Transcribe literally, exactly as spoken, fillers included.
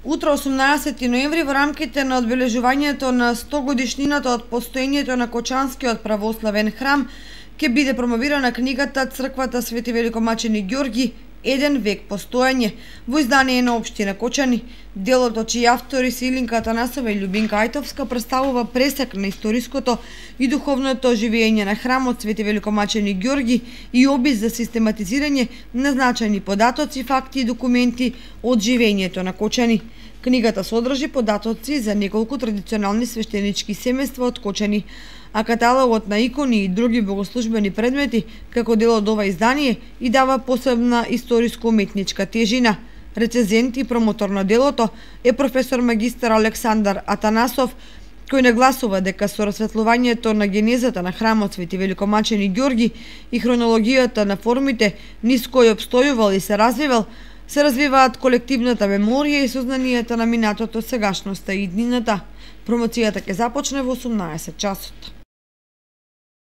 Утре, осумнаесети ноември, во рамките на одбележувањето на сто годишнината од постоењето на Кочанскиот православен храм, ќе биде промовирана книгата Црквата Свети Великомачени Ѓорги, еден век постоење, во издание на општина Кочани. Делото, чии автори се Илинка Атанасова и Љубинка Ајтовска, представува пресек на историското и духовното оживење на храмот Свети Великомачени Ѓорги и опис за систематизирање на значајни податоци, факти и документи од живењето на Кочани. Книгата содржи податоци за неколку традиционални свештенички семејства од Кочани, а каталогот на икони и други богослужбени предмети како дел од ова издание и дава посебна историско-уметничка тежина. Рецензент и промотор на делото е професор магистар Александар Атанасов, кој нагласува дека со расветлувањето на генезата на храмот Свети Великомачени Ѓорги и хронологијата на формите низ кои обстојувал и се развивал, се развиваат колективната меморија и сознанието на минатото, сегашноста и иднината. Промоцијата ќе започне во осумнаесет часот.